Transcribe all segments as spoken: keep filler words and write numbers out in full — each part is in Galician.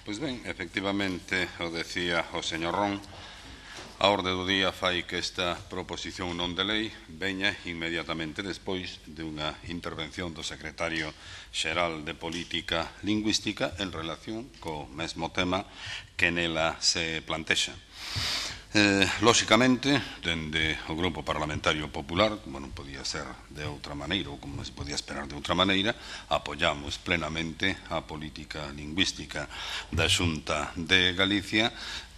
Pois ben, efectivamente, o decía o señor Ron, a orde do día fai que esta proposición non de lei veña inmediatamente despois de unha intervención do secretario xeral de Política Lingüística en relación co mesmo tema que nela se plantexa. Eh, lóxicamente, dende o Grupo Parlamentario Popular, como non podía ser de outra maneira ou como se podía esperar de outra maneira, apoiamos plenamente a política lingüística da Xunta de Galicia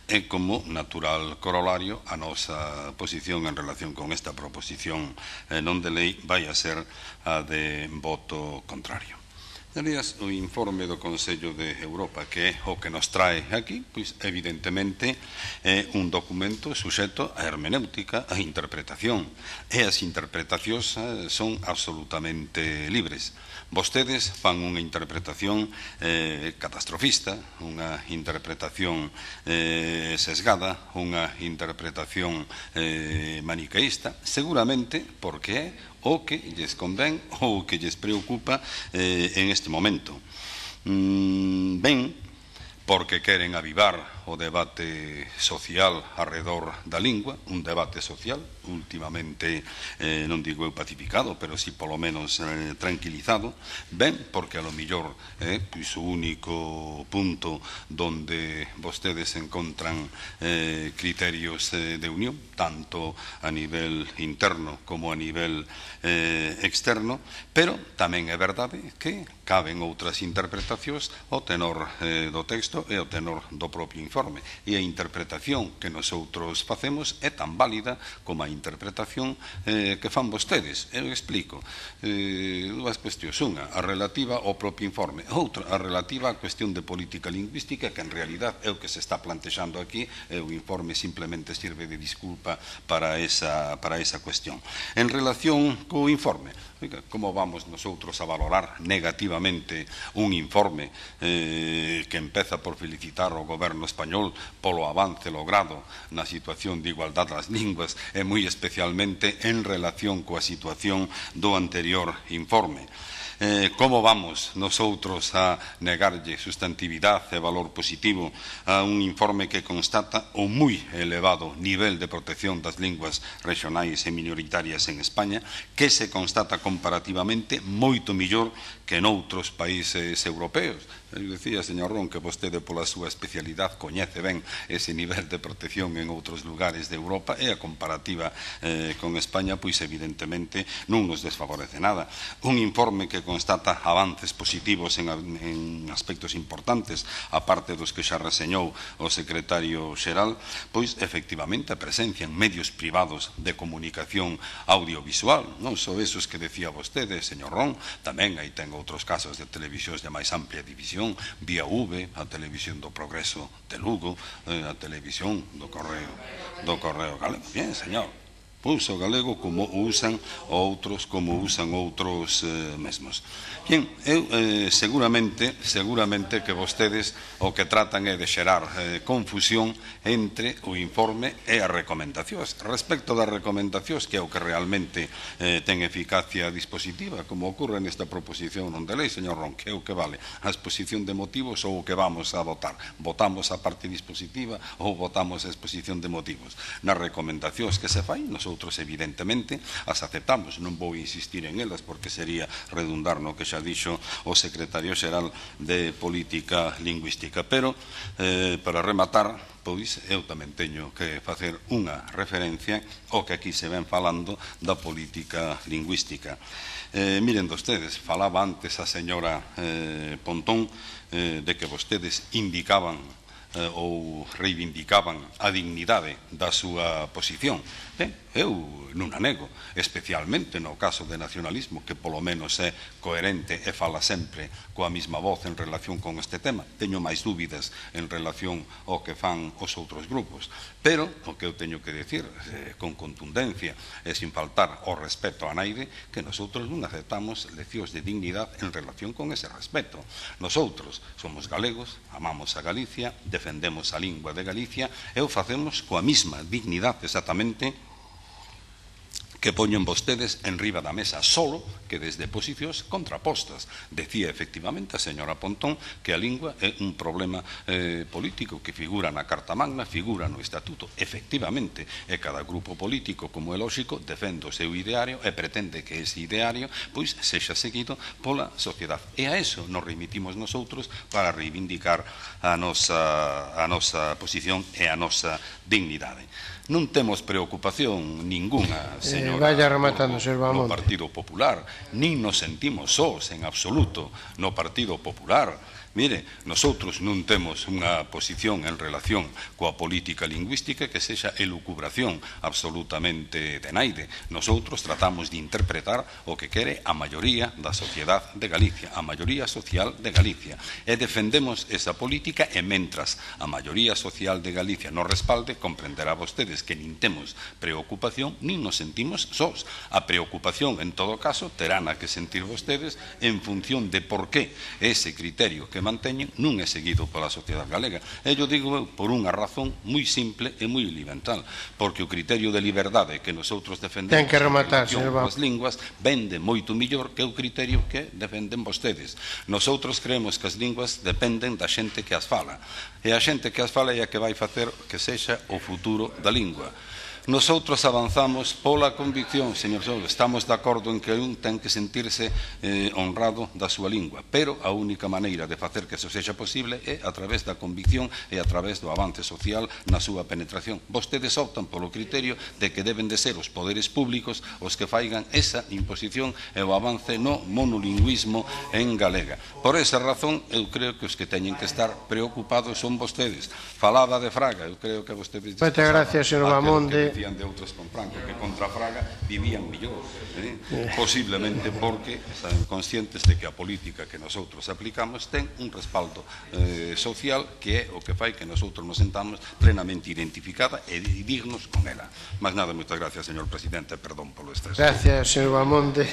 e como natural corolario a nosa posición en relación con esta proposición eh, non de lei vai a ser a de voto contrario. Señorías, o informe do Consello de Europa, que é o que nos trae aquí, pois evidentemente é un documento suxeto a hermenéutica, a interpretación, e as interpretacións son absolutamente libres. Vostedes fan unha interpretación eh, catastrofista, unha interpretación eh, sesgada, unha interpretación eh, maniqueísta, seguramente porque é o que lles convén ou o que lles preocupa eh, en este momento. Mm, ben, porque queren avivar o debate social arredor da lingua, un debate social últimamente, eh, non digo eu pacificado, pero si polo menos eh, tranquilizado, ben, porque a lo millor eh, pois o único punto donde vostedes encontran eh, criterios eh, de unión, tanto a nivel interno como a nivel eh, externo, pero tamén é verdade que caben outras interpretacións ao tenor eh, do texto e ao tenor do propio informe. E a interpretación que nosoutros facemos é tan válida como a interpretación eh, que fan vostedes. Eu explico. Eh, dúas cuestións. Unha, a relativa ao propio informe. Outra, a relativa á cuestión de política lingüística, que en realidad é o que se está plantexando aquí, e o informe simplemente sirve de disculpa para esa, para esa cuestión. En relación co informe, oiga, como vamos nosotros a valorar negativamente un informe eh, que empeza por felicitar ao goberno español polo avance logrado na situación de igualdade das linguas e moi especialmente en relación coa situación do anterior informe? Eh, como vamos nosoutros a negarlle sustantividade e valor positivo a un informe que constata o moi elevado nivel de protección das linguas regionais e minoritarias en España, que se constata comparativamente moito millor que noutros países europeos? Eu dicía, señor Ron, que vostede pola súa especialidade coñece ben ese nivel de protección en outros lugares de Europa e a comparativa eh, con España, pois evidentemente non nos desfavorece nada. Un informe que constata avances positivos en, en aspectos importantes, aparte dos que xa reseñou o secretario xeral, pois efectivamente a presencia en medios privados de comunicación audiovisual, non só esos que decía vostede, señor Ron, tamén aí ten outros casos de televisións de máis amplia división, vía V, a televisión do Progreso de Lugo, eh, a televisión do Correo do Correo Galego. Bien, señor, uso galego como usan outros, como usan outros eh, mesmos. Bien, eu eh, seguramente, seguramente que vostedes o que tratan é de xerar eh, confusión entre o informe e as recomendacións. Respecto das recomendacións, que é o que realmente eh, ten eficacia dispositiva, como ocorre nesta proposición non de lei, señor Ron, que é o que vale a exposición de motivos ou o que vamos a votar. Votamos a parte dispositiva ou votamos a exposición de motivos. Nas recomendacións que se fai, nos outros evidentemente as aceptamos, non vou insistir en elas porque sería redundar no que xa dixo o secretario xeral de Política Lingüística, pero eh, para rematar, pois eu tamén teño que facer unha referencia ao que aquí se ven falando da política lingüística. Eh, miren vostedes, falaba antes a señora eh, Pontón eh, de que vostedes indicaban eh, ou reivindicaban a dignidade da súa posición. Ben, eu non a nego, especialmente no caso de nacionalismo, que polo menos é coherente e fala sempre coa mesma voz en relación con este tema. Teño máis dúbidas en relación ao que fan os outros grupos, pero o que eu teño que decir eh, con contundencia e sin faltar ao respeto a naide, que nosotros non aceptamos leccións de dignidade en relación con ese respeto. Nosotros somos galegos, amamos a Galicia, defendemos a lingua de Galicia e o facemos coa mesma dignidade exactamente que poñen vostedes en riba da mesa, solo que desde posicións contrapostas. Decía efectivamente a señora Pontón que a lingua é un problema eh, político que figura na Carta Magna, figura no Estatuto, efectivamente, e cada grupo político, como é lógico, defende o seu ideario e pretende que ese ideario pois sexa seguido pola sociedade. E a eso nos remitimos nosotros para reivindicar a nosa, a nosa posición e a nosa dignidade. Non temos preocupación ninguna, señora, eh, vaya rematando, señor no Partido Popular, nin nos sentimos sós en absoluto no Partido Popular. Mire, nosotros non temos unha posición en relación coa política lingüística que sexa elucubración absolutamente de naide. Nosotros tratamos de interpretar o que quere a maioría da sociedade de Galicia, a maioría social de Galicia. E defendemos esa política e mentras a maioría social de Galicia nos respalde, comprenderá vostedes que nin temos preocupación, nin nos sentimos sós. A preocupación, en todo caso, terán a que sentir vostedes en función de por qué ese criterio que manteñen non é seguido pola sociedade galega. E yo digo por unha razón moi simple e moi elemental, porque o criterio de liberdade que nosotros defendemos ten que rematar, en relación coas linguas vende moito millor que o criterio que defenden vostedes. Nosotros creemos que as linguas dependen da xente que as fala, e a xente que as fala é a que vai facer que sexa o futuro da lingua. Nosotros avanzamos pola convicción, señor Sol, estamos de acordo en que un ten que sentirse eh, honrado da súa lingua, pero a única maneira de facer que eso sexa posible é a través da convicción e a través do avance social na súa penetración. Vostedes optan polo criterio de que deben de ser os poderes públicos os que faigan esa imposición e o avance no monolingüismo en galega. Por esa razón, eu creo que os que teñen que estar preocupados son vostedes. Falaba de Fraga, eu creo que vostedes... Moitas gracias, señor Bamonde. De outros con Franco, que contra Fraga vivían millor, eh? posiblemente porque están conscientes de que a política que nosotros aplicamos ten un respaldo eh, social que é o que fai que nosotros nos sentamos plenamente identificada e dignos con ela. Mas nada, moitas gracias, señor presidente, perdón polo exceso. Gracias, señor Bamonde.